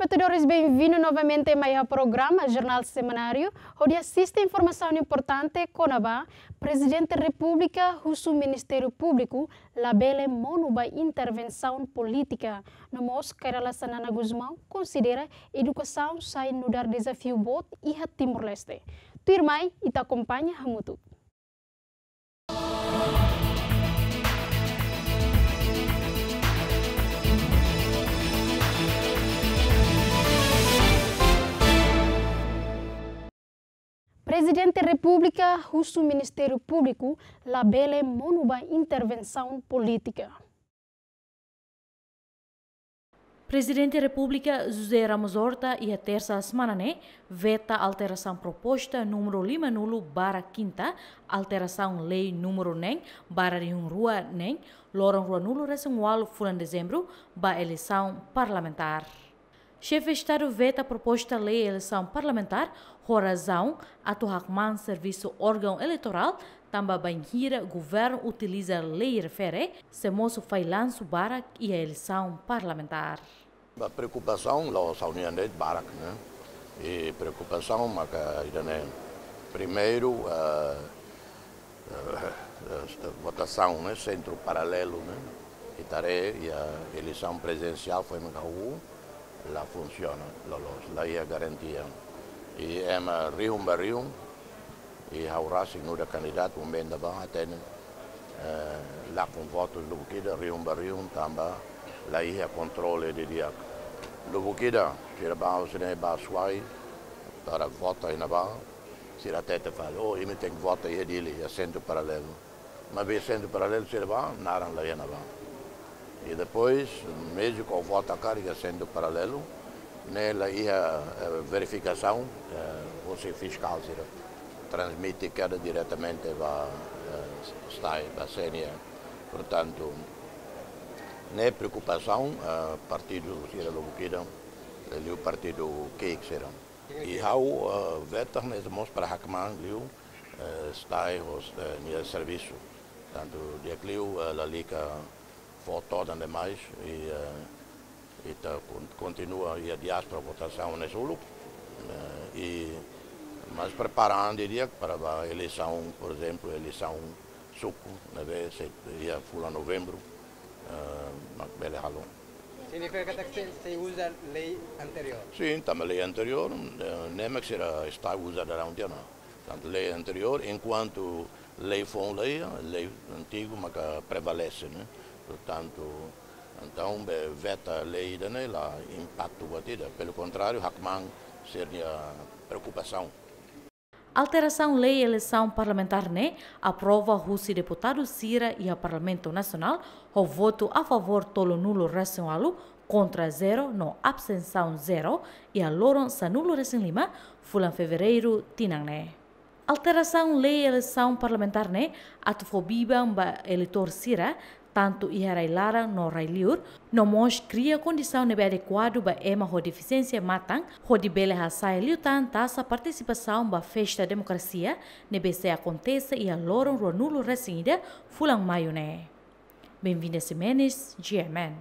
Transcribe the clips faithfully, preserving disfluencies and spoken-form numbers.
Telespetadores, benvindu novamente mai iha programa Jornál Semanáriu, hodi asiste informasaun importante kona-ba Prezidente Repúblika husu Ministériu Públiku labele monu ba intervensaun polítika. No mós Kay Rala Xanana Gusmão konsidera edukasaun sai nu'udar dezafiu boot iha Timor-Leste. Tuirmai, ita akompaña hamutuk. Prezidente Repúblika husu Ministériu Públiku labele monu ba intervensaun polítika. Prezidente Repúblika José Ramos Horta iha tersa semana ne'e veta alterasaun proposta númeru lima nulu barra kinta, alterasaun lei númeru neen barra rihun rua neen, loron rua nulu resin ualu fulan dezembru, ba eleisaun parlamentár. Xefe Estadu veta proposta lei eleisaun parlamentár ho razaun atu hakmaan servisu órgaun eleitorál, tanba bainhira governu utiliza lei refere, sei mosu fallansu barak iha eleisaun parlamentár. Ba preokupasaun la'ós ha'u-nian de'it, barak, ne'e. I preokupasaun maka ida-ne'e, primeiru, eh, eh, eh, votasaun, ne'e, sentru paralelu, ne'e. Ita haree, iha eleisaun prezidensiál foin maka hahú, la funsiona, loloos, la iha garantia. I ema rihun ba rihun, i ha'u rasik nu'udar kandidatu, um benda ba hatene, eh, lakon votus lubuk ida, rihun ba rihun, tanba la iha kontrole didi'ak. Lubuk ida, sira ba, sira ba Suai, para vota iha ne'ebá, sira hatete fali, oh, imi tenke vota iha Dili, iha sentru paralelu. Maibé sentru paralelu sira ba, naran la iha ne'ebá. I depois, mezmu ke vota karik iha sentru paralelu, ne'e la iha, eh, verifikasaun, eh, husi fiskál sira. Transmite keda diretamente ba, eh, STAE, ba C N E. Portantu, ne'e preokupasaun, eh, partidu sira lubuk ida, eh, liu partidu ki'ik sira. I ha'u, eh, veta ne'e mós para hakmaan liu, eh, STAE ho, eh, nia servisu. Tantu di'ak liu, eh, lalika fó todan demais, i, eh, ita kon-, kontinua iha diáspora votasaun ne'e uluk, eh, i mas prepara an didi'ak para ba eleisaun, por ezemplu, eleisaun suku, ne'ebé sei iha fulan novembru, eh, mak bele halo. Signifika katak sei, sei uza lei anteriór? Sin, tanba lei anteriór, eh, ne'e mak sira STAE uza daudaun tiha ona. Tantu lei anteriór, enkuantu lei foun la iha, lei antigu maka prevalese, ne'e? Portantu, entaun, be veta lei ida-ne'e la impaktu buat ida. Pelu kontráriu, hakmaan sira-nia preokupasaun. Alterasaun lei eleisaun parlamentár ne'e aprova husi deputadu sira iha Parlamentu Nasionál, ho votu a favór tolunulu resin ualu, kontra zero no abstensaun zero, iha loron sanulu resin lima fulan Fevereiru tinan ne'e. Alterasaun lei eleisaun parlamentár ne'e atu fó biban ba eleitór sira, tantu iha rai-laran no rai-liur, no mós kria kondisaun ne'ebé adekuadu ba ema ho defisiénsia matan, hodi bele hasa'e liután taxa partisipasaun ba festa demokrasia, ne'ebé sei akontese iha loron rua nulu resin ida fulan Maiu ne'e. Benvinda Ximenes, G M N.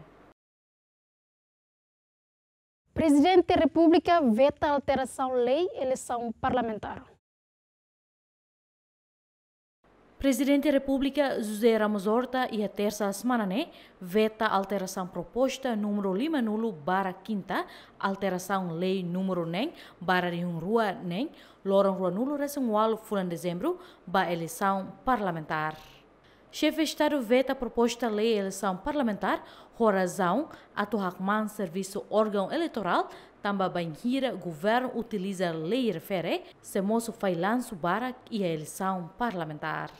Prezidente Repúblika veta alterasaun lei eleisaun parlamentár. Prezidente Repúblika José Ramos Horta iha tersa semana ne'e veta alterasaun proposta númeru lima nulu barra kinta, alterasaun lei númeru neen barra rihun rua neen, loron rua nulu resin ualu fulan Dezembru, ba eleisaun parlamentár. Xefe Estadu veta proposta lei eleisaun parlamentár ho razaun atu hakmaan servisu órgaun eleitorál, tanba bainhira governu utiliza lei refere, sei mosu fallansu barak iha eleisaun parlamentár.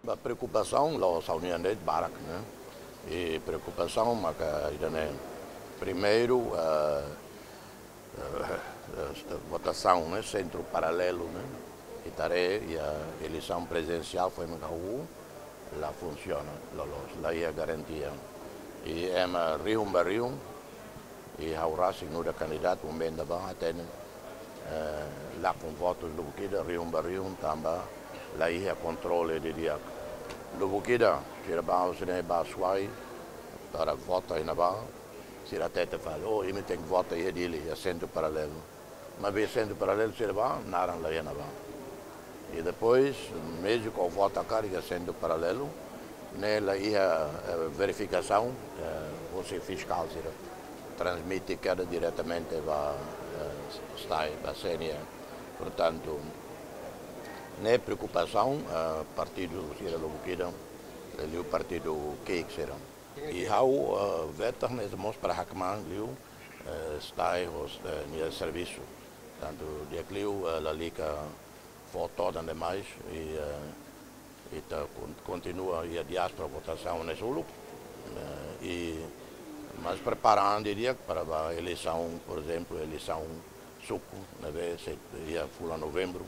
Ba preokupasaun la'ós ha'u-nian de'it, barak, ne'e. I preokupasaun maka ida-ne'e, primeiru, eh, eh, eh, votasaun, ne'e, sentru paralelu, ne'e, ita haree iha eleisaun prezidensiál foin maka hahú, la funsiona, loloos, la iha garantia. I ema rihun ba rihun, i ha'u rasik nu'udar kandidatu, um benda ba hatene, eh, lakon votus lubuk ida, rihun ba rihun, tanba la iha kontrole didi'ak. Lubuk ida, sira ba, sira ba Suai, para vota iha ne'ebá, Sira hatete fali, oh, imi tenke vota iha Dili, iha asentu paralelu. Maibé asentu paralelu sira bá, naran la iha ne'ebá. I depois, mezmu ke vota karik iha asentu paralelu, ne'e la iha, eh, verifikasaun, eh, husi fiskál sira. Transmite keda diretamente ba, eh, STAE, ba C N E. Portantu, ne'e preokupasaun, eh, partidu sira lubuk ida, liuliu partidu ki'ik sira. I ha'u, eh, veta ne'e mós para hakmaan liu, eh, STAE hosi, eh, nia servisu. Tantu di'ak liu, eh, lalika fó todan demais, i, eh, ita kon-, kontinua iha diáspora votasaun ne'e uluk, eh, i mas prepara an didi'ak para ba eleisaun, por ezemplu, eleisaun suku, ne'ebé sei iha fulan Novembru,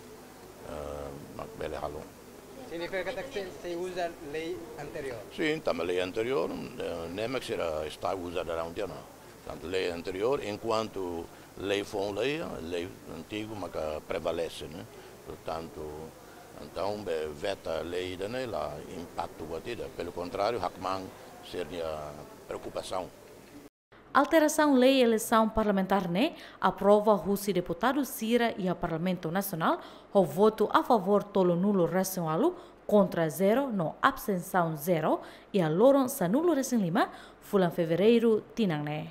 eh, mak bele halo. Signifika katak sei, sei uza lei anteriór? Sin, tanba lei anteriór, eh, ne'e mak sira STAE uza daudaun tiha ona. Tantu lei anteriór, enkuantu lei foun la iha, lei antigu maka prevalese, ne'e? Portantu, entaun, be veta lei ida-ne'e la impaktu buat ida. Pelu kontráriu, hakmaan sira-nia preokupasaun. Alterasaun lei eleisaun parlamentár ne'e aprova husi deputadu sira iha Parlamentu Nasionál ho votu a favór tolunulu-resin-ualu, kontra zero no abstensaun zero, iha loron sanulu-resin-lima fulan Fevereiru tinan ne'e.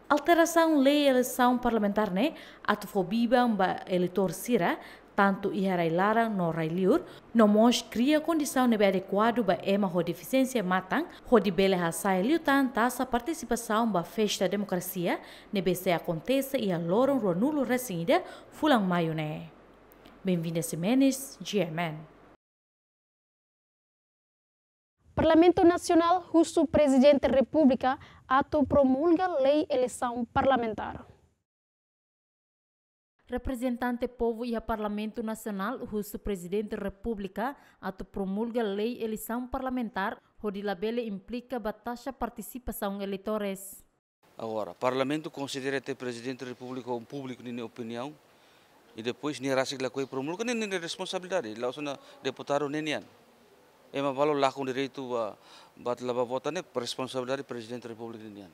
Alterasaun lei eleisaun parlamentár ne'e atu fó biban ba eleitór sira, tantu iha rai-laran no rai-liur, no mós kria kondisaun ne'ebé adekuadu ba ema ho defisiénsia matan, hodi bele hasa'e liután taxa partisipasaun ba festa demokrasia ne'ebé sei akontese iha loron ruanulu-resin-ida fulan Maiu ne'e. Benvinda Ximenes, G M N. Parlamentu Nasionál husu Prezidente Repúblika atu promulga lei eleisaun parlamentár. Reprezentante povu iha Parlamentu Nasionál husu Prezidente Repúblika atu promulga lei eleisaun parlamentár hodi labele implika ba taxa partisipasaun eleitór. Agora, Parlamentu konsidera katak Prezidente Repúblika ho públiku ninia opiniaun, i depois nia rasik lakohi promulga, ne'e nia responsabilidade, la'ós ona deputadu ne'e nian. Ema balu lakon direitu ba, ba la ba vota ne'e responsabilidade Prezidente Repúblika nian.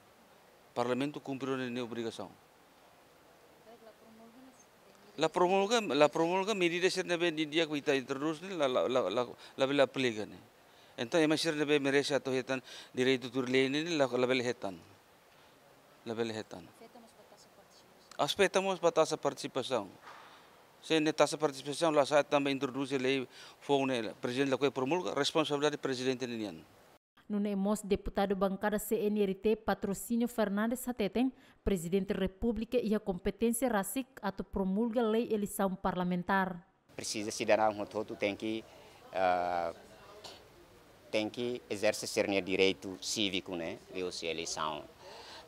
Parlamentu kumpre ona nia obrigasaun. La promulga, la promulga medida sira ne'ebé di'ak ita introdús ne'e la, la, la, la, labele aplika ne'e. Entaun, ema sira ne'ebé merese atu hetan direitu tuir lei ne'e la, labele hetan. Labele hetan. Afeta mós ba taxa partisipasaun. Se ne'e taxa partisipasaun la sa'e tanba introdús lei foun ne'e, Prezidente lakohi promulga, responsabilidade Prezidente nian. Nune'e mós deputadu bankada C N R T Patrocínio Fernandes hateten, Prezidente Repúblika iha kompeténsia rasik atu promulga lei eleisaun parlamentár. Presiza sidadaun hotu-hotu tenke, ah, tenke ezerse sira-nia direitu síviku, ne'e, liuhusi eleisaun.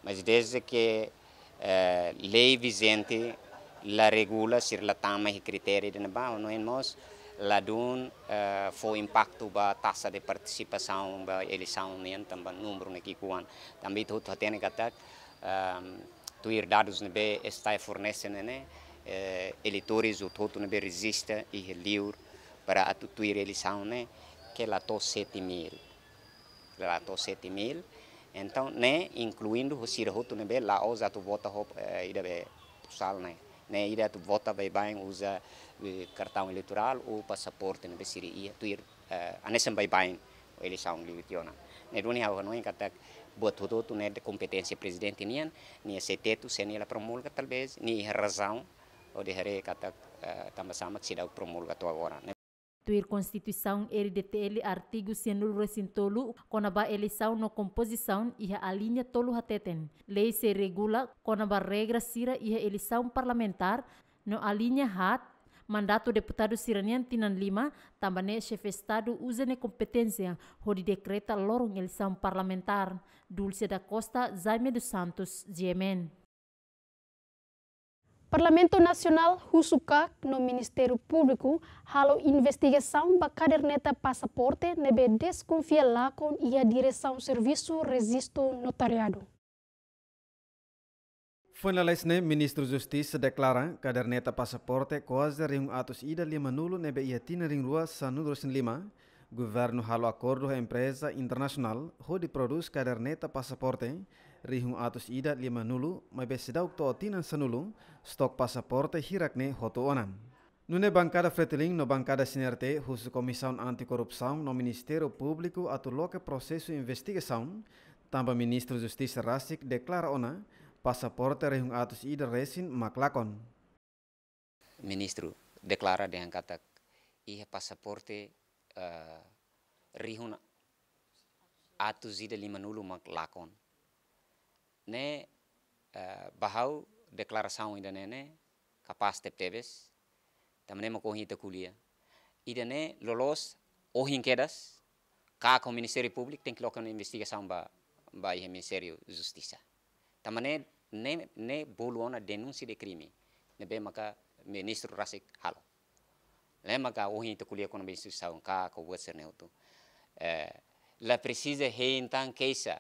Mas desde que, eh, lei vijente la regula, sira la tama iha kritériu ida-ne'ebá, no mós ladún, eh, fó impaktu ba taxa de partisipasaun ba eleisaun nian, tanba númeru ne'e ki'ikoan. Tanba ita hotu hatene katak, ehm, tuir dadus ne'ebé STAE fornese ne'e, ne'e, eh, eleitór hotu-hotu ne'ebé rejista iha liur para atu tuir eleisaun ne'e, ke la to'o sete mil. La to'o sete mil. Entaun, ne'e inkluindu ho sira hotu ne'ebé la'ós atu vota ho, eh, ida be posal ne'e. Ne'e ida atu vota baibain uza, eh, kartaun eleitorál ou pasaporte ne'ebé sira iha tuir, eh, hanesan baibain eleisaun liu tiha ona. Ne'e duni ha'u hanoin katak buat hotu-hotu ne'e de kompeténsia Prezidente nian, nia sei tetu, se nia la promulga, talvés nia iha razaun hodi haree katak, eh, tanba sá mak seidauk promulga to'o agora, ne'e. Tuir Konstituisaun R D T L artigu sianulu-resin-tolu kona-ba eleisaun no kompozisaun iha alínea tolu hateten, lei sei regula kona-ba regra sira iha eleisaun parlamentár, no alínea haat, mandatu deputadu sira-nian tinan lima, tanba ne'e Xefe Estadu uza nia kompeténsia hodi dekreta loron eleisaun parlamentár. Dulce da Costa, Jaime dos Santos, G M N. Parlamentu Nasionál husu KAK no Ministériu Públiku halo investigasaun ba kaderneta pasaporte ne'ebé deskonfia lakon iha Diresaun Servisu Rejistu Notariadu. Foin lalais ne'e, Ministru Justisa deklara kaderneta pasaporte kuaze rihun atus ida limanulu ne'ebé iha tinan rihun rua sanulu-resin-lima, governu halo akordu ho empreza internasionál hodi prodús kaderneta pasaporte, rihun atus ida limanulu, maibé seidauk to'o tinan sanulu, stok pasaporte hirak ne'e hotu ona. Nune'e bankada Fretilin no bankada C N R T husu Komisaun Anti-Korrupsaun no Ministériu Públiku atu loke prosesu investigasaun, tanba Ministru Justisa rasik deklara ona pasaporte rihun atus ida resin mak lakon. Ministru deklara dehan katak iha pasaporte, eh, rihun atus ida limanulu mak lakon. Ne'e, eh, ba ha'u deklarasaun ida-ne'e ne'e kapás tebetebes, tanba ne'e mak ohin ita ko'alia. Ida-ne'e loloos ohin kedas, KAK ho Ministériu Públiku tenke loke ona investigasaun ba, ba iha Ministériu Justisa. Tanba ne'e, ne'e, ne'e bolu ona denúnsia de krime ne'ebé maka ministru rasik halo. Ne'e maka ohin ita ko'alia kona-ba instituisaun KAK ho buat sira-ne'e hotu. Eh, la presiza hein tan keixa.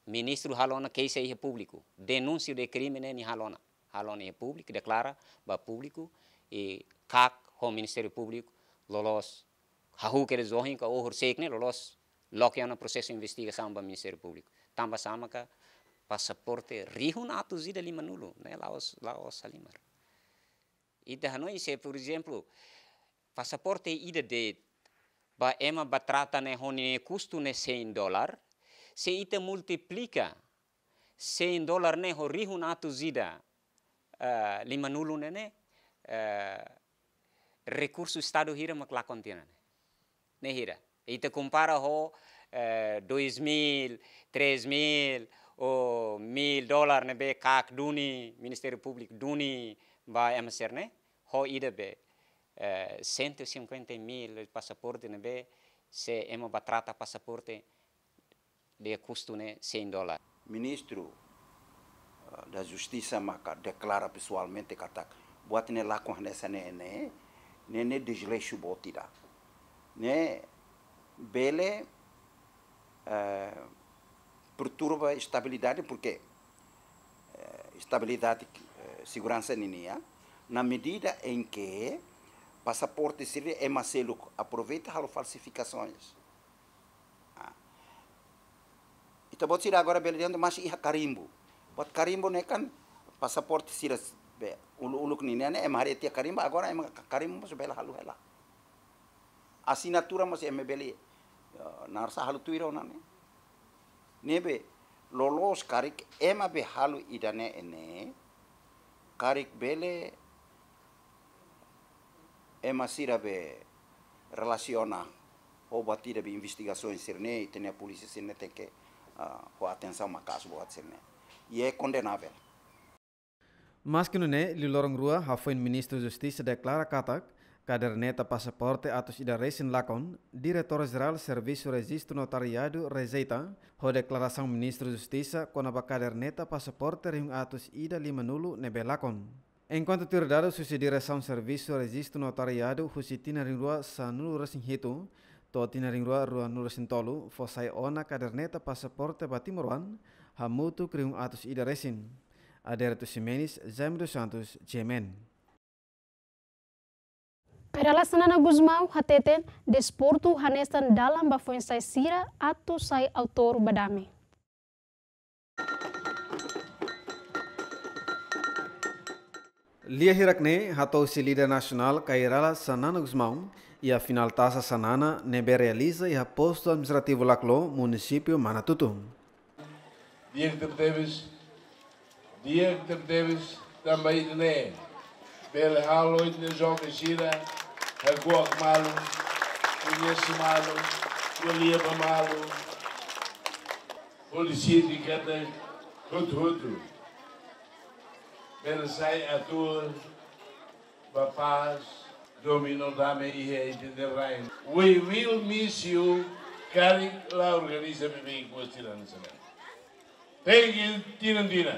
Ministru halo ona keixa iha públiku. Denúnsia de krime ne'e nia halo ona. Halo ona iha públiku, deklara ba públiku, i KAK ho Ministériu Públiku loloos hahú kedas ohin ka ohin horisehik ne'e loloos loke ona prosesu investigasaun ba Ministériu Públiku. Tanba sá maka pasaporte rihun atus ida limanulu, ne'e la'ós, la'ós halimar. Ita hanoin se, por ezemplu, pasaporte ida de'it ba ema bá trata ne'e ho nia kustu ne'e cem dólar, se ita multiplika cem dólar ne'e ho rihun atus ida, eh, limanulu ne'e ne'e, eh, rekursu Estadu hira mak lakon tiha ona ne'e? Ne'e hira. Ita kompara ho, eh, dois mil, três mil, ou mil dólar ne'ebé KAK duni, Ministériu Públiku duni ba ema sira-ne'e, ho ida be, eh, cento e cinquenta mil pasaporte ne'ebé se ema bá trata pasaporte nia kustu ne'e cem dólar. Ministru, eh, da Justisa maka deklara pesoalmente katak buat ne'e lakon hanesan ne'e ne'e, ne'e, ne'e desleixu boot ida. Ne'e bele, eh, perturba estabilidade, porque, eh, estabilidade, eh, seguransa ninian, na medida em que pasaporte sira ema seluk aproveita halo falsifikasoens. Ah. Ita-boot sira agora bele dehan maka iha karimbu. Buat karimbu ne'e kan pasaporte sira be uluk-uluk ninian ne'e ema haree tiha karimbu, agora ema ka-, karimbu mós bele halo hela. Asinatura mós ema bele, eh, naran sá, halo tuir ona ne'e. Ne'ebé loloos karik ema be halo ida-ne'e ne'e, karik bele ema sira be relasiona ho buat ida be investigasaun sira-ne'e, ita-nia polísia sira-ne'e tenke, ah, ho atensaun maka'as buat sira-ne'e. I é kondenável. Maski nune'e, liu loron rua hafoin Ministru Justisa deklara katak kaderneta pasaporte atus ida resin lakon, Diretór Jerál Servisu Rejistu Notariadu rejeita ho deklarasaun Ministru Justisa kona-ba kaderneta pasaporte rihun atus ida limanulu ne'ebé lakon. Enkuantu tuir dadus husi Diresaun Servisu Rejistu Notariadu, husi tinan rihun rua sanulu resin hitu to'o tinan rihun rua ruanulu resin tolu fó sai ona kaderneta pasaporte ba timoroan hamutuk rihun atus ida resin. Adérito Ximenes, Jaime dos Santos, G M N. Kay Rala Xanana Gusmão hateten desportu hanesan dalan ba foin-sa'e sira atu sai autór ba dame. Lia hirak-ne'e hato'o husi líder nasionál Kay Rala Xanana Gusmão iha finál Tasa Xanana ne'ebé realiza iha postu administrativu Laclo, munisípiu Manatuto. Di'ak tebetebes, di'ak tebetebes tanba ida-ne'e bele halo ita-nia joven sira hakuak malu, koñese malu, ko'alia ba malu, hodi sente katak hotu-hotu bele sai autór ba pás, domin no dame iha ita-nia rain. We will miss you, karik la organiza beibeik buat sira hanesan ne'e. Thank you, tinan-tinan.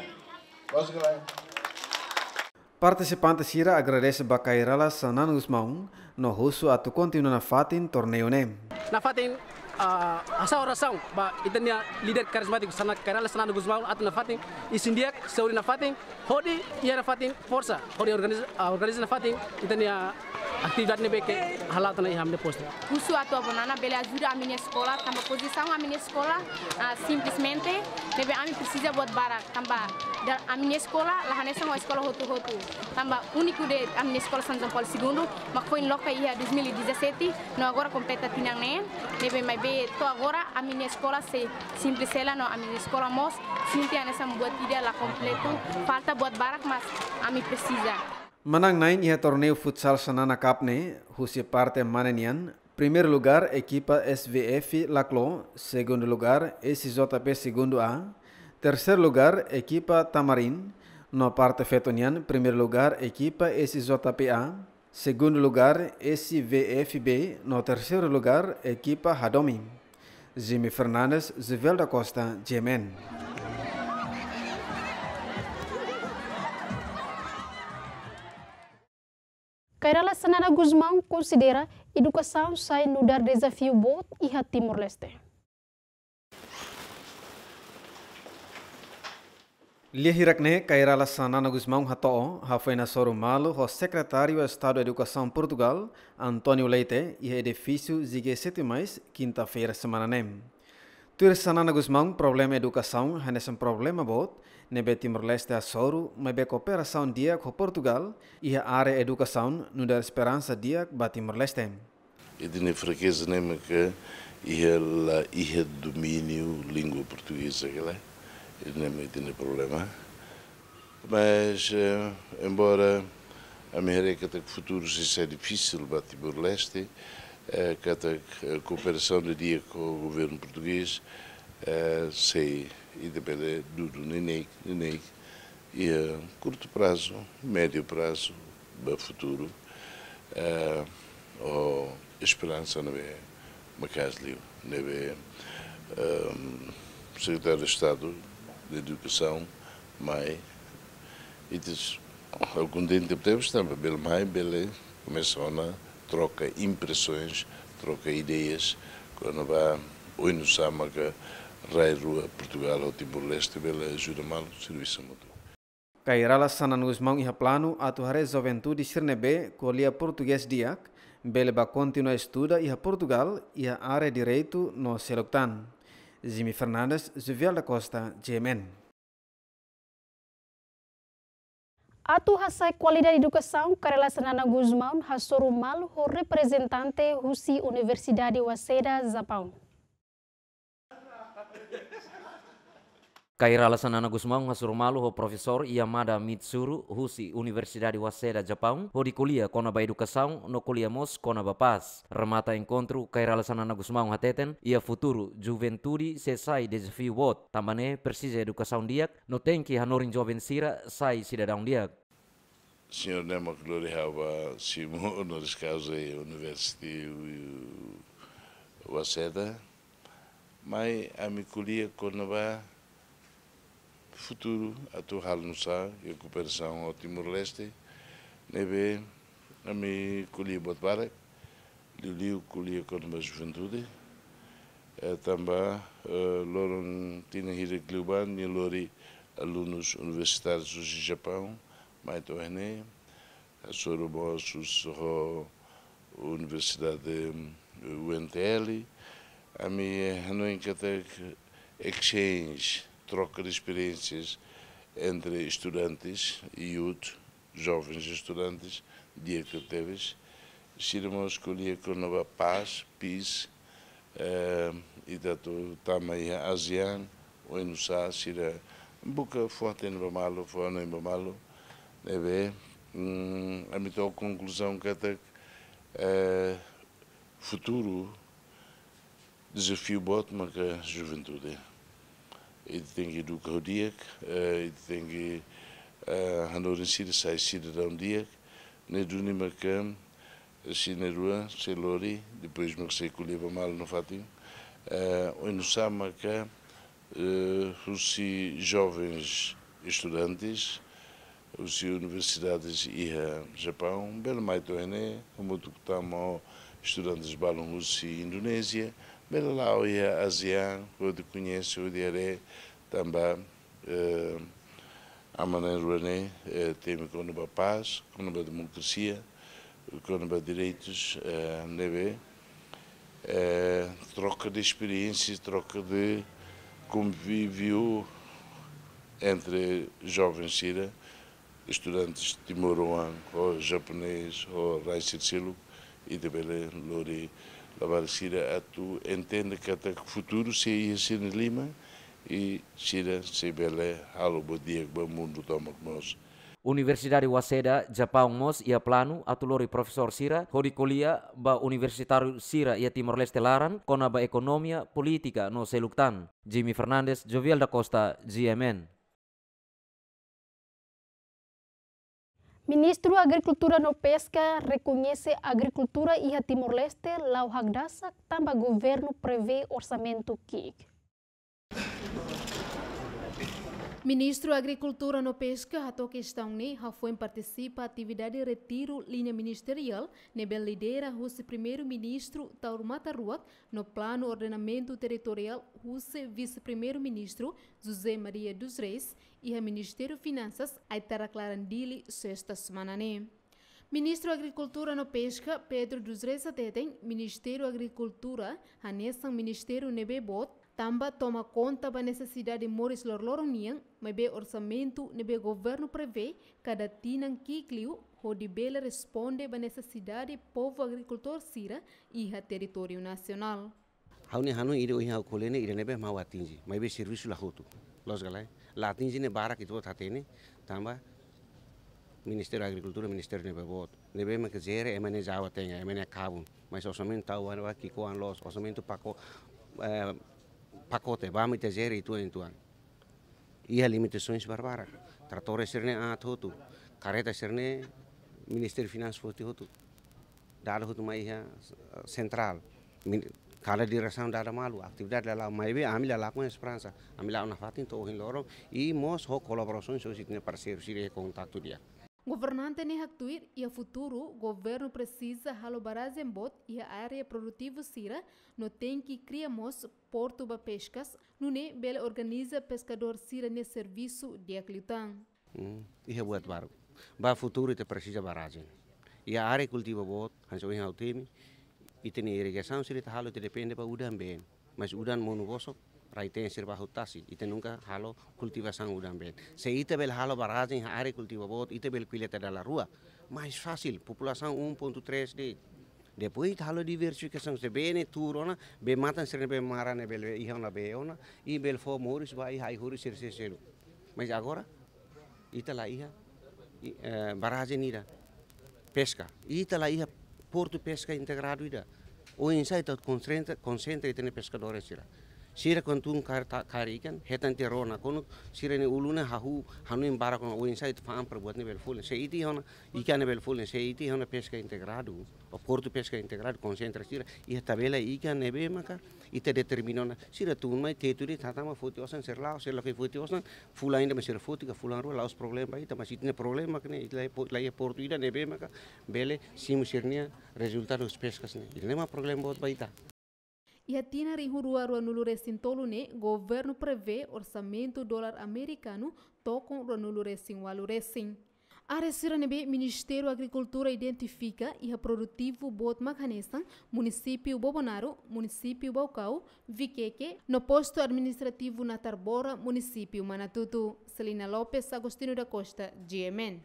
Bos kelai. Partisipante sira agradese ba Kay Rala Xanana Gusmão, no husu atu kontinua nafatin torneiu ne'e. Nafatin, ah, hasa'e orasaun ba ita-nia líder karizmátiku Xana-, Kay Rala Xanana Gusmão atu nafatin isin di'ak, saúde nafatin, hodi iha nafatin forsa, hodi organiza, ah, organiza nafatin ita-nia Atividade ne'ebé ke hala'o tiha ona iha ami-nia postu. Husu atu avó Nana bele ajuda ami-nia eskola, tanba pozisaun ami-nia eskola, ah, simplesmente, ne'ebé ami presiza buat barak, tanba da-, ami-nia eskola la hanesan ho eskola hotu-hotu. Tanba úniku de'it ami-nia eskola São João Paulo Segundo, mak foin loke iha dois mil e dezassete, no agora kompleta tinan neen, ne'ebé maibé to'o agora ami-nia eskola sei simples hela no ami-nia eskola mós sente hanesan buat ida la kompletu, falta buat barak mas ami presiza. Manán-na'in iha torneiu futsal Xanana Cup ne'e, husi parte mane nian, primeiru lugar ekipa S V F Laclo, segundu lugar S J P Segundo A, terseiru lugar ekipa Tamarin, no parte feto nian, primeiru lugar ekipa S J P A, segundu lugar S V F B, no terseiru lugar ekipa Hadomi. Jimmy Fernandes, Juvel da Costa, G M N. Kairala Xanana Gusmão konsidera edukasaun sai nu'udar dezafiu boot iha Timor-Leste. Lia hirak ne'e Kairala Xanana Gusmão hato'o, hafoin hasoru malu ho Sekretáriu Estadu Edukasaun Portugal, António Leite, iha edifísiu G G sete mais, kinta-feira semana ne'e. Tuir Xanana Gusmão, problema edukasaun hanesan problema boot ne'ebé Timor-Leste hasoru, maibé kooperasaun di'ak ho Portugal iha área edukasaun nu'udar esperansa di'ak ba Timor-Leste. Ita-nia frakeza ne'e mak iha la iha domíniu língua portugeza, kala. Ida-ne'e mak ita-nia problema. Mas, eh, embora ami haree katak futuru sei sai difisil ba Timor-Leste, eh, katak, eh, kooperasaun di'ak ho governu portugés, eh, sei ita bele dudu neineik, neineik, iha kurtu prazu, médiu prazu, ba futuru, eh, ho esperansa ne'ebé maka'as liu, ne'ebé, ehm, Sekretáriu Estadu Edukasaun mai, ita kontente tebes tanba bele mai, bele komesa ona troka impresoens, troka ideias, kona-ba oinsá maka rai rua Portugal ho Timor-Leste bele ajuda malu, servisu mútuu. Kairala Xanana Gusmão iha planu atu haree juventude sira ne'ebé ko'alia portugés di'ak, bele bá kontinua estuda iha Portugal, iha área direitu no seluk tan. Jimmy Fernandes, Juvel da Costa, G M N. Atu hasa'e kualidade edukasaun, Kairala Xanana Gusmão hasoru malu ho reprezentante husi Universidade Waseda, Japaun. Kairala Xanana Gusmão hasoru malu ho Profesór Yamada Mitsuru husi Universidade Waseda, Japaun, hodi ko'alia kona-ba edukasaun no ko'alia mós kona-ba pás. Remata enkontru, Kairala Xanana Gusmão hateten, iha futuru juventude sei sai dezafiu boot, tanba ne'e presiza edukasaun di'ak, no tenke hanorin joven sira sai sidadaun di'ak. Señór ne'e mak lori ha'u ba simu honoris causa iha University Waseda, mai ami ko'alia kona-ba futuru atu halo nu'usá iha kooperasaun ho Timor-Leste, ne'ebé ami ko'alia buat barak, liuliu ko'alia kona-ba juventude, eh, tanba, eh, loron tinan hirak liubá nia lori alunus universitárius husi Japaun, mai to'o iha ne'e, hasoru mós ho Universidade, eh, U N T L, ami, eh, hanoin katak exchange, troka de experiências entre estudantes, youth, jovens estudantes, di'ak tebes, sira mós ko'alia kona-ba pás, peace, eh, ita atu tama iha ASEAN, oinsá sira buka fó-hatene ba malu, fó-hanoin ba malu, ne'ebé, mm, ami to'o konkluzaun katak, eh, futuru dezafiu boot maka juventude. Ita tenke eduka ho di'ak, eh, ita tenke, eh, hanorin sira sai sidadaun di'ak, ne'e duni maka, eh, sira na'in-rua sei lori, depois maka sei ko'alia ba malu nafatin, eh, oinsá maka, eh, husi jovens estudantes, husi universidades iha Japaun, bele mai to'o iha ne'e, hamutuk tama ho estudantes balun husi Indonézia, bele la'o iha ASEAN, hodi koñese, hodi haree, tanba, eh, ami na'in-rua ne'e, eh, temi kona-ba pás, kona-ba demokrasia, Kona-ba direitus, eh, ne'ebé, eh, troka de esperiénsia, troka de konvíviu entre jovens sira, estudantes timoroan, ou japonês, ou rai sira seluk, ita bele lori labarik sira atu entende katak futuru sei iha sira-nia liman, i sira sei bele halo buat di'ak ba mundu tomak mós. Universidade Waseda, Japaun mós iha planu atu lori profesór sira hodi ko'alia ba universitáriu sira iha Timor-Leste laran kona-ba ekonomia, polítika no seluk tan. Jimmy Fernandes, Jovial da Costa, G M N. Ministru Agrikultura no Peska rekoñese agrikultura iha Timor-Leste la'o hakdasak tanba governu prevee orsamentu ki'ik. Ministru Agrikultura no Peska hato'o kestaun ne'e hafoin partisipa atividade retiru liña ministeriál ne'ebé lidera husi Primeiru-Ministru Taur Matan Ruak no planu ordenamentu territoriál husi Vise-Primeiru-Ministru José Maria dos Reis iha Ministériu Finansas, Aitarak laran Dili, sesta semana ne'e. Ministru Agrikultura no Peska, Pedro dos Reis hateten, Ministériu Agrikultura hanesan ministériu ne'ebé boot, tanba toma konta ba nesesidade moris loroloron nian, maibé orsamentu ne'ebé governu prevee kada tinan ki'ik liu hodi bele responde ba nesesidade povu agrikultór sira iha territóriu nasionál. Ha'u-nia hanoin ida ohin ha'u ko'alia ne'e ida ne'ebé mak ha'u atinje, maibé servisu la hotu. Loos ka lae? La atinje ne'e barak ita-boot hatene, tanba Ministériu Agrikultura, ministériu ne'ebé boot. Ne'ebé mak jere ema nia jawa tenga, ema nia kabun. Mas orsamentu tau ba ki'ikoan loos, orsamentu pako-, eh, pakote, ba mak ita jere uitoan-uitoan. Iha limitasaun barbarak. Tratór sira-ne'e aat hotu, kareta sira-ne'e Ministériu Finansas foti hotu. Dada hotu mai iha, eh, sentrál. Min-, kada diresaun dada malu, atividade la la'o, maibé ami la lakon esperansa. Ami la'o nafatin to'o ohin loron, i mós ho kolaborasaun husi ita-nia parseiru sira iha kontaktu di'ak. Governante ne'e haktuir, iha futuru, governu presiza halo barrajen boot iha área produtivu sira, no tenke kria mós portu ba peskas, nune'e bele organiza peskadór sira-nia servisu di'ak liután. Hmm, iha buat baru. Ba futuru ita presiza barrajen. Iha área kultivu boot, hanesan ohin ha'u temi, ita-nia irrigasaun sira ita halo ita depende ba udan-been. Mas udan monu bosok, rai-teen sira bá hotu tasi, ita nunka halo kultivasaun udan-been. Se ita bele halo barrajen iha área kultivu boot, ita bele kolleta dala rua. Mais fasil, populasaun um ponto três de'it. Depois ita halo diversifikasaun, se bee ne'e tuur ona, bee-matan sira ne'ebé mara ne'e bele iha ona bee ona, i bele fó moris ba iha ai-horis sira seluk. Mas agora, ita la iha, i, eh, barrajen ida, peska. Ita la iha portu peska integradu ida. Oinsá ita konsentra, konsentra ita-nia peskadór sira. Sira kuandu tun kaer ta-, kaer ikan, hetan tiha rona, kuandu sira-nia ulun ne'e hahú, hanoin barak ona, oinsá ita fa'an para buat ne'e bele folin. Se ita iha ona, ikan ne'e bele folin, se ita iha ona peska integradu, ou portu peska integradu, konsentra sira, iha tabela ikan ne'ebé maka ita determina ona, sira tun mai tetu de'it, hatama foti osan, sira la'o, sira lakohi foti osan, fulan ida mak sira foti ka fulan rua, la'ós problema ba ita, mas ita-nia problema mak ne'e, ita la iha po-, la iha portu ida ne'ebé maka bele simu sira-nia rezultadu peskas ne'e. Ida-ne'e mak problema boot ba ita. Iha tinan rihun rua ruanulu resin tolu ne'e, governu prevee orsamentu dolar amerikanu tokon ruanulu resin ualu resin. Área sira ne'ebé Ministériu Agrikultura identifika iha produtivu boot mak hanesan munisípiu Bobonaro, munisípiu Baucau, Viqueque, no postu administrativu Natarbora, munisípiu Manatuto. Celina Lopes, Agostinho da Costa, G M N.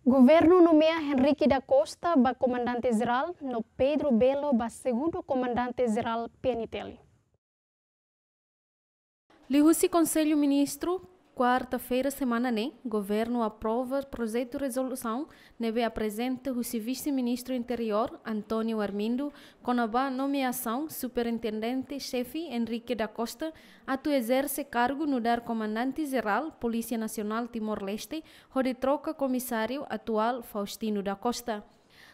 Governu nomeia Henrique da Costa ba Komandante Jerál, no Pedro Belo ba Segundu Komandante Jerál P N T L. Liuhusi Konsellu Ministru, kuarta-feira semana ne'e, governu aprova projetu rezolusaun ne'ebé aprezenta husi Vise-Ministru Interiór, António Armindo, kona-ba nomeasaun Superintendente Xefe Henrique da Costa atu ezerse kargu nu'udar Komandante Jerál Polísia Nasionál Timor-Leste, hodi troka Komisáriu atuál Faustino da Costa.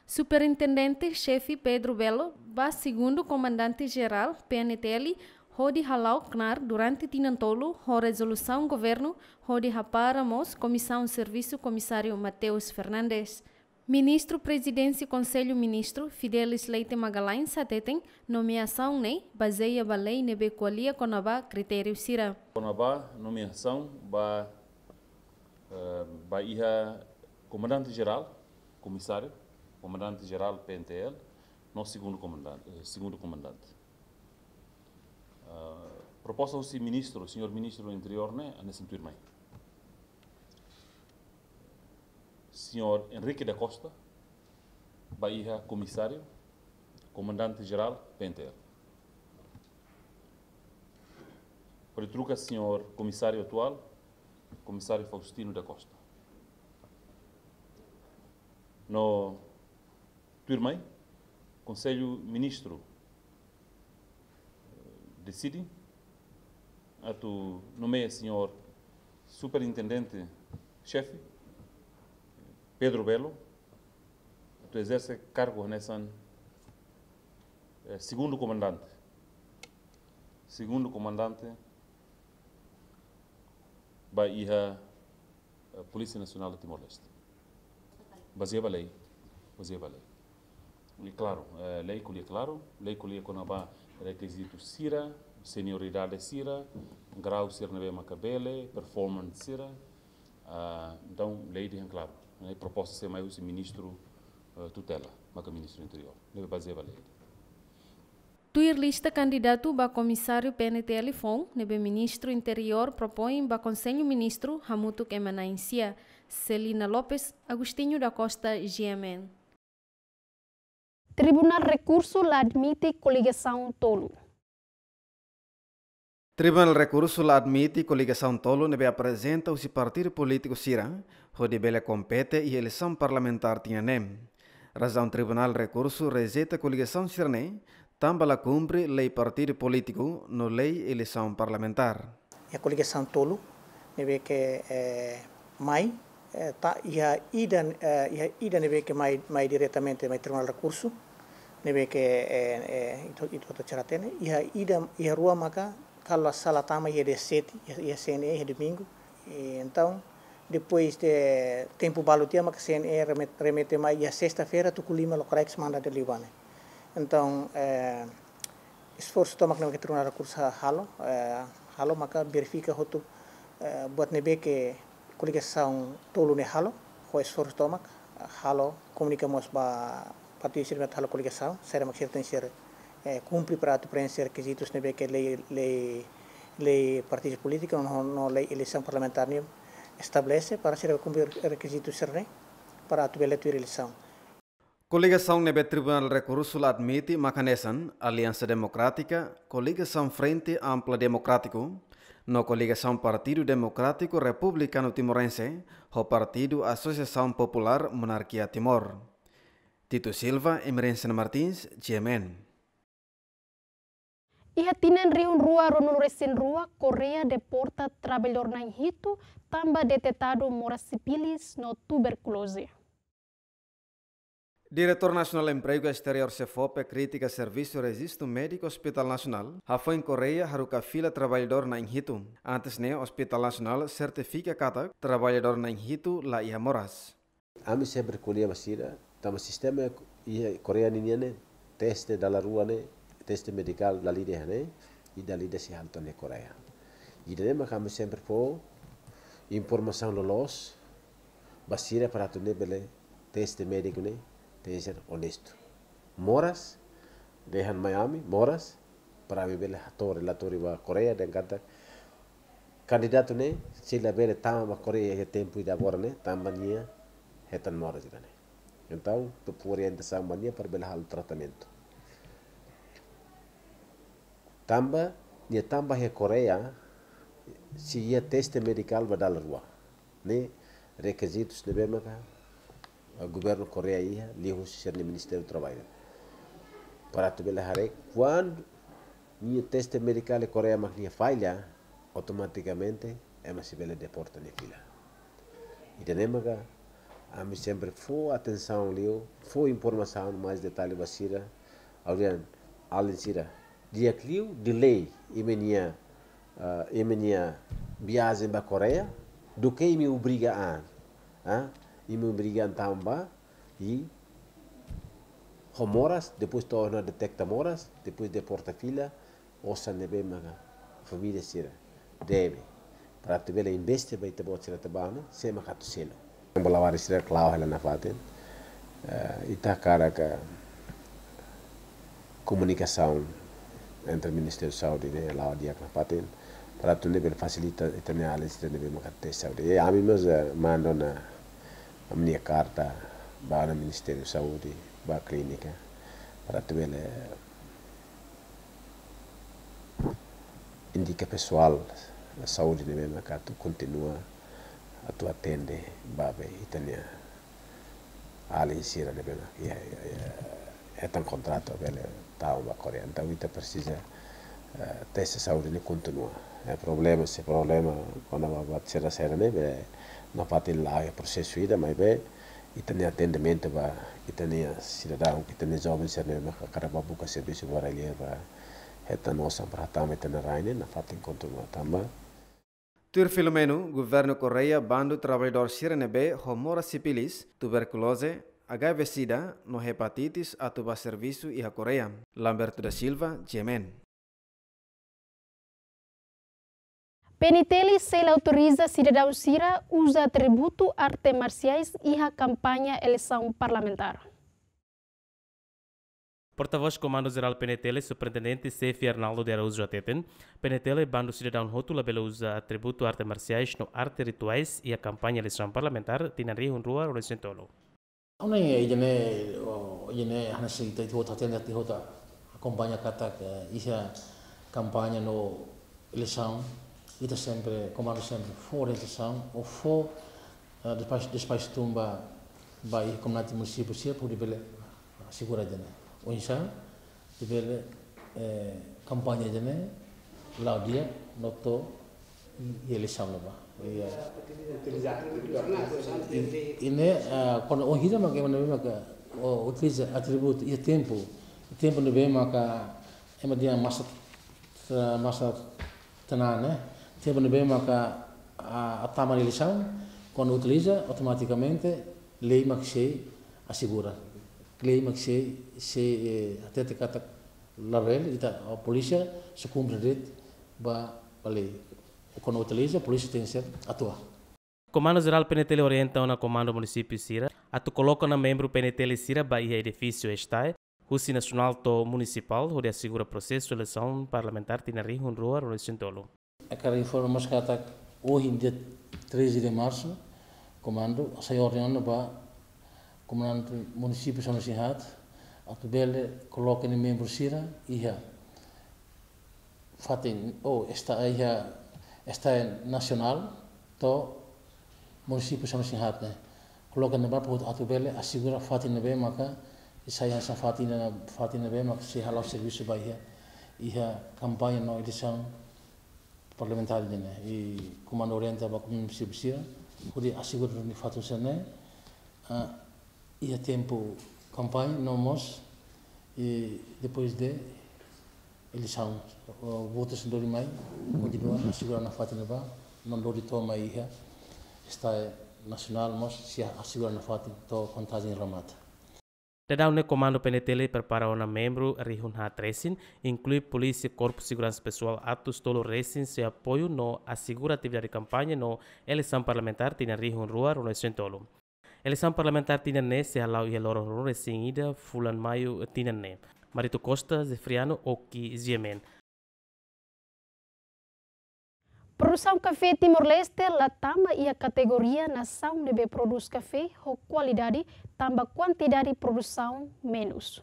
Superintendente Xefe Pedro Belo ba Segundu Komandante Jerál P N T L, hodi hala'o knaar durante tinan tolu ho rezolusaun governu, hodi hapara mós komisaun servisu Komisáriu Mateus Fernandes. Ministru Prezidénsia Konsellu Ministru, Fidelis Leite Magalhães, hateten nomeasaun ne'e bazeia ba lei ne'ebé ko'alia kona-ba kritériu sira. Kona-ba nomeasaun ba, eh, ba iha Komandante Jerál, Komisáriu, Komandante Jerál P N T L, no segundu komandante, eh, segundu komandante. Ah, proposta husi ministru, señór ministru Interiór ne'e, hanesan tuirmai. Señór Henrique da Costa ba iha Komisáriu, Komandante Jerál P N T L. Hodi troka señór Komisáriu atuál, Komisáriu Faustino da Costa. No tuirmai, Konsellu Ministru, eh, deside atu nomeia señór Superintendente Xefe, Pedro Belo, atu ezerse kargu hanesan, eh, segundu komandante. Segundu komandante ba iha, eh, Polísia Nasionál de Timor-Leste. Bazeia ba lei, bazeia ba lei. I klaru, eh, lei ko'alia klaru, lei ko'alia kona-ba rekizitu sira, senioridade sira, grau sira ne'ebé maka bele, performance sira. Ah, entaun, lei dehan klaru. Ne'e proposta sei mai husi ministru, eh, tutela, maka ministru Interiór. Ne'ebé bazeia ba lei. Tuir lista kandidatu ba Komisáriu P N T L foun ne'ebé Ministru Interiór propoin ba Konsellu Ministru hamutuk ema na'in sia, Celina Lopes, Agostinho da Costa, G M N. Tribunál Rekursu la admite koligasaun tolu. Tribunál Rekursu la admite koligasaun tolu ne'ebé aprezenta husi partidu polítiku sira hodi bele kompete iha eleisaun parlamentár tinan ne'e. Razaun Tribunál Rekursu rejeita koligasaun sira-ne'e tanba la kumpre lei partidu polítiku no lei eleisaun parlamentár. Iha koligasaun tolu ne'ebé ke, eh, mai, eh, ta-, iha ida, eh, iha ida ne'ebé ke mai, mai diretamente mai Tribunál Rekursu, ne'ebé ke, eh, eh, ita, ita, ita hotu hatene, iha ida, iha rua maka, kalau la sala tama iha dia sete, iha, iha C N E, iha domingu. I entaun, depois de tempu balu tiha maka C N E remet-, remete mai iha sesta-feira, tuku lima lokraik manda de'it liu ba ne'e. Entaun, eh, esforsu tomak ne'ebé ke Tribunál Rekursu ha-, halo, eh, halo maka verifika hotu, eh, buat ne'ebé ke koligasaun tolu ne'e halo, ho esforsu tomak, eh, halo komunika mós ba partidu sira ne'ebé halo koligasaun, saida mak sira tenke, eh, kumpre para atu prenxe rekizitus ne'ebé ke lei, lei, lei partidu polítiku no, no lei eleisaun parlamentár nian estabelese para sira kumpre rekizitus sira-ne'e para atu bele tuir eleisaun. Koligasaun ne'ebé Tribunál Rekursu la admite maka hanesan Aliansa Demokrátika, Koligasaun Frente Ampla Demokrátiku, no Koligasaun Partidu Demokrátiku Republikanu Timorense, ho Partidu Asosiasaun Populár Monarkia Timor. Tito Silva, Emerencia Martins, G M N. Iha tinan rihun rua ruanulu-resin-rua, Koreia deporta traballadór na'in hitu tanba detetadu moras sífilis no tuberkuloze. Diretór Nasionál Empregu Esteriór SEFOPE kritika servisu rejistu médiku Hospitál Nasionál, hafoin Koreia haruka fila traballadór na'in hitu. Antes ne'e, Hospitál Nasionál sertifika katak traballadór na'in hitu la iha moras. Ami sempre ko'alia ba sira, tanba sistema iha Koreia ninian ne'e, teste dala rua ne'e, teste medikál dala ida iha ne'e, i dala ida sei halo tan iha Koreia. Ida-ne'e maka ami sempre fó informasaun loloos ba sira para atu nune'e bele teste médiku ne'e tenke ser onestu. Moras, dehan mai ami, moras, para ami bele hato'o relatóriu ba Koreia, dehan katak kandidatu ne'e sei la bele tama ba Koreia iha tempu ida agora ne'e, tanba nia hetan moras ida-ne'e. Entaun, ita fó orientasaun ba nia para bele halo tratamentu. Tanba, nia tama ba iha Koreia, sei iha teste medikál ba dala rua. Ne'e rekizitus ne'ebé maka, eh, governu Koreia iha, liuhusi sira-nia Ministériu Traballu. Para atu bele haree, kuandu nia teste medikál iha Koreia mak nia falla, automatikamente ema sei bele deporta nia fila. Ida-ne'e maka ami sempre fó atensaun liu, fó informasaun mais detallu ba sira, ha'u dehan alin sira, di'ak liu delay imi-nia, ah, imi-nia viajen ba Koreia, duké imi obriga an, ah, imi obriga an tama ba, i ho moras, depois to'o ona detekta moras, depois deporta fila, osan ne'ebé maka família sira debe. Para atu bele investe ba ita-boot sira atu bá ona, sé maka atu selu. Bola barak sira klaru hela nafatin. Eh, ita hakarak komunikasaun entre Ministériu Saúde ne'e la'o di'ak nafatin, para atu nune'e bele fasilita ita-nia alin sira ne'ebé maka teste saúde. I ami mós, eh, manda ona ami-nia karta ba ona Ministériu Saúde, ba klínika, para atu bele indika pesoál saúde ne'ebé maka atu kontinua atu atende ba be ita-nia alin sira ne'ebé maka iha, iha, iha, hetan kontratu bele tau ba Koreia. Entaun ita presiza, eh, teste saúde ne'e kontinua. Eh, problema, se problema kona-ba buat sira-sira ne'e be nafatin la'o iha prosesu ida, maibé ita-nia atendimentu ba ita-nia sidadaun, ita-nia joven sira ne'ebé maka hakarak ba buka servisu ba rai-li'ur, ba hetan osan para hatama ita-nia rain ne'e nafatin kontinua tanba. Tuir Filomeno, governu Koreia bandu traballadór sira ne'ebé ho moras sípilis, tuberkuloze, H I V sida, no hepatitis atu ba servisu iha Koreia. Lamberto da Silva, G M N. P N T L sela autoriza sidadaun sira uza atributu arte marsiais iha kampaña eleisaun parlamentár. Portavós Komandu Jerál P N T L, Superintendente Xefe Arnaldo de Araújo hateten, P N T L bandu sidadaun hotu labele uza atributu arte marsiais no arte rituais iha kampaña eleisaun parlamentár tinan rihun rua ruanulu-resin-tolu. Ne'e, ida-ne'e, o, ida-ne'e hanesan ita, ita hotu hatene, ita hotu akompaña katak, eh, iha kampaña no eleisaun, ita sempre, komandu sempre fó orientasaun, ou fó, eh, despaxu, despaxu tun ba, ba iha komunidade munisípiu sira, hodi bele asegura ida-ne'e. Oinsá, atu bele, eh, kampaña ida-ne'e la'o di'ak no to'o iha eleisaun ne'ebá. Iha. I, i ne'e, ah, kuandu ohin ida maka, maka, o, utiliza atributu iha tempu, tempu ne'ebé maka ema dehan masa, eh, masa tenang, ne'e. Tempu ne'ebé maka, ah, atu tama eleisaun, kuandu utiliza, automatikamente lei mak sei asegura. Lei mak sei, sei, eh, hatete katak labele, ita, o, polísia sei kumpre de'it ba, ba lei. Kuandu utiliza, polísia tenke ser atua. Komandu Jerál P N T L orienta ona komandu munisípiu sira atu koloka ona membru P N T L sira ba iha edifísiu STAE, husi nasionál to'o munisipál, hodi asegura prosesu eleisaun parlamentár tinan rihun rua ruanulu-resin-tolu. Hakarak informa mós katak ohin dia treze de março, komandu hasai orden ona ba komandante munisípiu São Luís ne'e atu bele koloka nia membru sira iha fatin, o, STAE iha, STAE nasionál to'o munisípiu São Luís ne'e. Koloka ne'ebá para atu bele asegura fatin ne'ebé maka, i sai hanesan fatin ne'e, fatin ne'ebé maka sei hala'o servisu ba iha, iha kampaña no eleisaun parlamentár ne'e. I komandu orienta ba komandu munisípiu sira, hodi asegura duni fatin sira-ne'e, ah, iha tempu kampaña, no mós, i depois de eleisaun, o, votus lori mai, kontinua asegura ona fatin ne'ebá, no lori to'o mai iha STAE nasionál mós sei asegura ona fatin to'o kontajen remata. Daudaun ne'e komandu P N T L prepara ona membru rihun haat resin, inklui polísia, korpu seguransa pesoál atus tolu resin sei apoiu no asegura atividade kampaña no eleisaun parlamentár tinan rihun rua ruanulu-resin-tolu. Eleisaun parlamentár tinan ne'e sei hala'o iha loron ruanulu-resin-ida fulan Maiu tinan ne'e. Marito Costa, Zefriano Oki, G M N. Produsaun kafé Timor-Leste la tama iha kategoria nasaun ne'ebé prodús kafé ho kualidade, tanba kuantidade produsaun menus.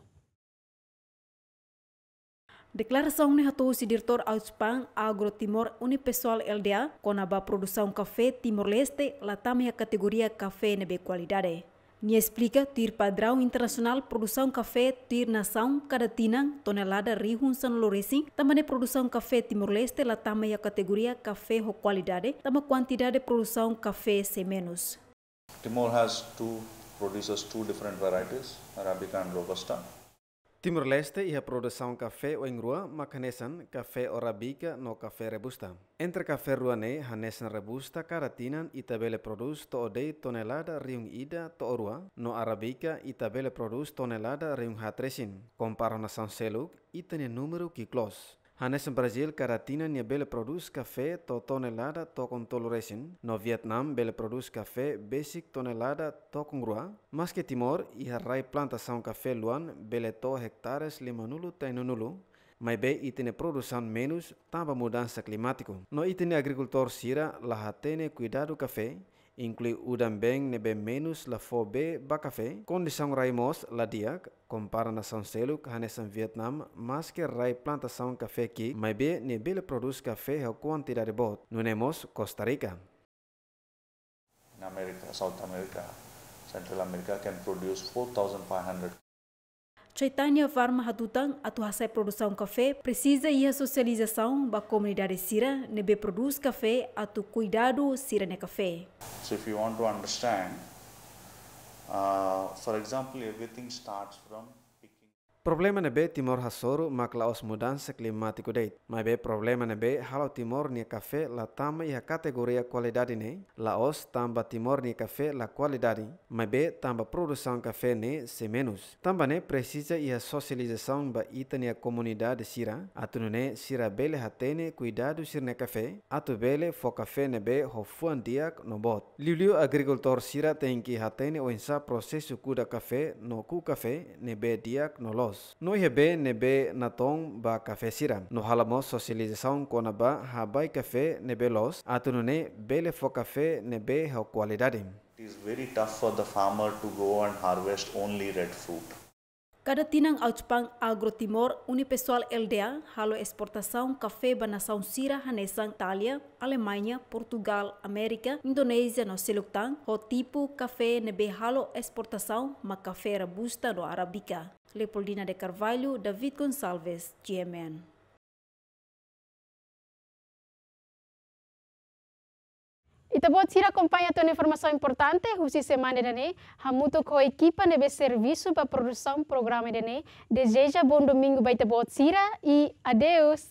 Deklarasaun ne'e hato'o husi Diretór Auspan Agro Timor Unipessoal L D A, kona-ba produsaun kafé Timor-Leste la tama iha kategoria kafé ne'ebé kualidade. Nia esplika, tuir padraun internasionál produsaun kafé tuir nasaun kada tinan tonelada rihun sanulu-resin, tanba ne'e produsaun kafé Timor-Leste la tama iha kategoria kafé ho kualidade, tanba kuantidade produsaun kafé sei menus. Timor has two producers, two different varieties, Arabica and Robusta. Timor-Leste iha produsaun kafé oin-rua mak hanesan kafé Arabica no kafé Robusta. Entre kafé rua ne'e hanesan Robusta kada tinan ita bele prodús to'o de'it tonelada rihun ida to'o rua, no Arabica ita bele prodús tonelada rihun haat resin. Kompara ho nasaun seluk, ita-nia númeru ki'ik loos. Hanesan Brazíl, kada tinan nia bele prodús kafé to'o tonelada tokon tolu resin, no Vietnam bele prodús kafé besik tonelada tokon rua, maske Timor iha rai plantasaun kafé luan bele to'o ektares limanulu to'o enanulu, maibé ita-nia produsaun menus tanba mudansa klimátiku. No ita-nia agrikultór sira la hatene kuidadu kafé, inklui udan-been ne'ebé menus la fó bee ba kafé, kondisaun rai mós la di'ak, kompara nasaun seluk hanesan Vietnam, maske rai plantasaun kafé ki'ik, maibé nia bele prodús kafé ho kuantidade boot, nune'e mós Costa Rica. In America, South America, Central America can produce four thousand five hundred. Chaitanya Varma hatutan, atu hasa'e produsaun kafé presiza iha sosializasaun ba komunidade sira ne'ebé prodús kafé atu kuidadu sira-nia kafé. So if you want to understand, uh, for example, everything starts from picking. Problema ne'ebé Timor hasoru mak la'ós mudansa klimátiku de'it, maibé problema ne'ebé halo Timor nia kafé la tama iha kategoria kualidade ne'e, la'ós tanba Timor nia kafé la kualidade, maibé tanba produsaun kafé ne'e sei menus. Tanba ne'e presiza iha sosializasaun ba ita-nia komunidade sira, atu nune'e sira bele hatene kuidadu sira-nia kafé, atu bele fó kafé ne'ebé ho fuan di'ak no boot. Liuliu agrikultór sira tenke hatene oinsá prosesu kuda kafé no ku'u kafé ne'ebé di'ak no loos. No iha bee ne'ebé natoon ba kafé sira. No halo mós sosializasaun kona-ba habai kafé ne'ebé loos, atu nune'e bele fó kafé ne'ebé ho kualidade. It is very tough for the farmer to go and harvest only red fruit. Kada tinan Autpan Agro Timor, Unipessoal L D A, halo esportasaun kafé ba nasaun sira hanesan Itália, Alemaña, Portugál, Amérika, Indonézia no seluk tan, ho tipu kafé ne'ebé halo esportasaun mak kafé robusta no arábica. Leopoldina de Carvalho, David Gonçalves, G M N. Ita-boot sira akompaña tiha ona informasaun importante husi semana ida-ne'e, hamutuk ho ekipa ne'ebé servisu ba produsaun programa ida-ne'e, dezeja bom domingu ba ita-boot sira i adeus.